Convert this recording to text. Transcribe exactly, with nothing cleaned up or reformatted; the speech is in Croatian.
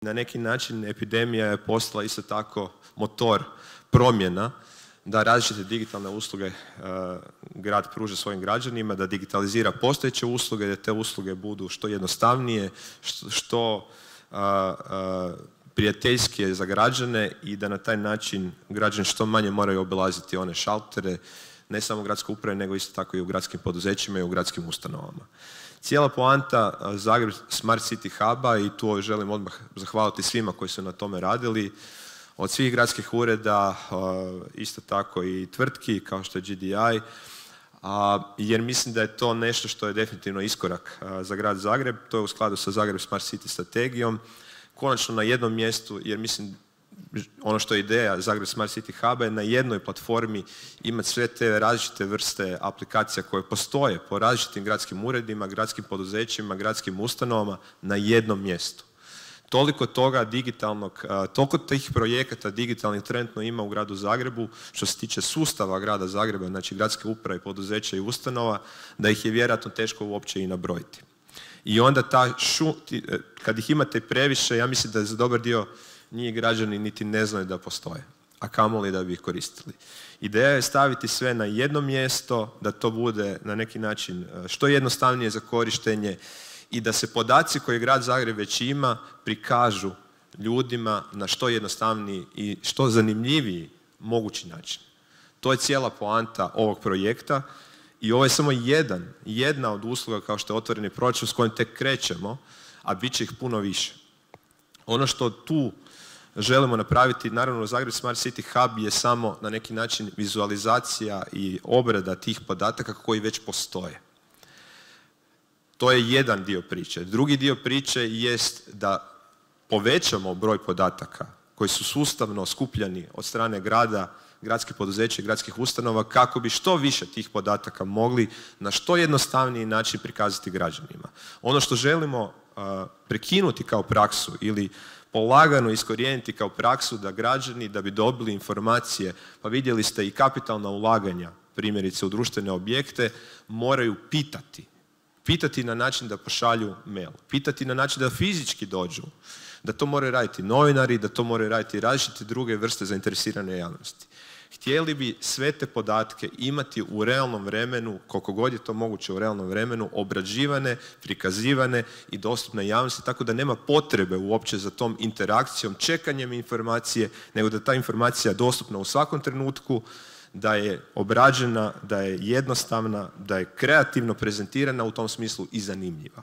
na neki način epidemija je postala isto tako motor promjena da različite digitalne usluge uh, grad pruža svojim građanima, da digitalizira postojeće usluge, da te usluge budu što jednostavnije, što, što uh, uh, prijateljskije za građane i da na taj način građani što manje moraju obilaziti one šaltere, ne samo u gradskoj upravi, nego isto tako i u gradskim poduzećima i u gradskim ustanovama. Cijela poanta Zagreb Smart City Huba, i tu želim odmah zahvaliti svima koji su na tome radili, od svih gradskih ureda, isto tako i tvrtki kao što je G D I, jer mislim da je to nešto što je definitivno iskorak za grad Zagreb. To je u skladu sa Zagreb Smart City strategijom. Konačno na jednom mjestu, jer mislim ono što je ideja Zagreb Smart City Huba je na jednoj platformi imati sve te različite vrste aplikacija koje postoje po različitim gradskim uredima, gradskim poduzećima, gradskim ustanovama na jednom mjestu. Toliko toga digitalnog, toliko tih projekata digitalnih trenutno ima u gradu Zagrebu što se tiče sustava grada Zagreba, znači gradske uprave, poduzeća i ustanova, da ih je vjerojatno teško uopće i nabrojiti. I onda ta šu, kad ih imate previše, ja mislim da za dobar dio njih građani niti ne znaju da postoje, a kamoli da bi ih koristili. Ideja je staviti sve na jedno mjesto, da to bude na neki način što jednostavnije za korištenje i da se podaci koje grad Zagreb već ima prikažu ljudima na što jednostavniji i što zanimljiviji mogući način. To je cijela poanta ovog projekta i ovo je samo jedan, jedna od usluga kao što je otvoreni proračun s kojim tek krećemo, a bit će ih puno više. Ono što tu želimo napraviti, naravno Zagreb Smart City Hub je samo na neki način vizualizacija i obrada tih podataka koji već postoje. To je jedan dio priče. Drugi dio priče jest da povećamo broj podataka koji su sustavno skupljani od strane grada, gradskih poduzeća i gradskih ustanova kako bi što više tih podataka mogli na što jednostavniji način prikazati građanima. Ono što želimo uh, prekinuti kao praksu ili polagano iskorijeniti kao praksu da građani da bi dobili informacije, pa vidjeli ste i kapitalna ulaganja, primjerice u društvene objekte, moraju pitati. Pitati na način da pošalju mail, pitati na način da fizički dođu, da to moraju raditi novinari, da to moraju raditi različite druge vrste zainteresirane javnosti. Htjeli bi sve te podatke imati u realnom vremenu, koliko god je to moguće u realnom vremenu, obrađivane, prikazivane i dostupne javnosti, tako da nema potrebe uopće za tom interakcijom, čekanjem informacije, nego da ta informacija je dostupna u svakom trenutku, da je obrađena, da je jednostavna, da je kreativno prezentirana u tom smislu i zanimljiva.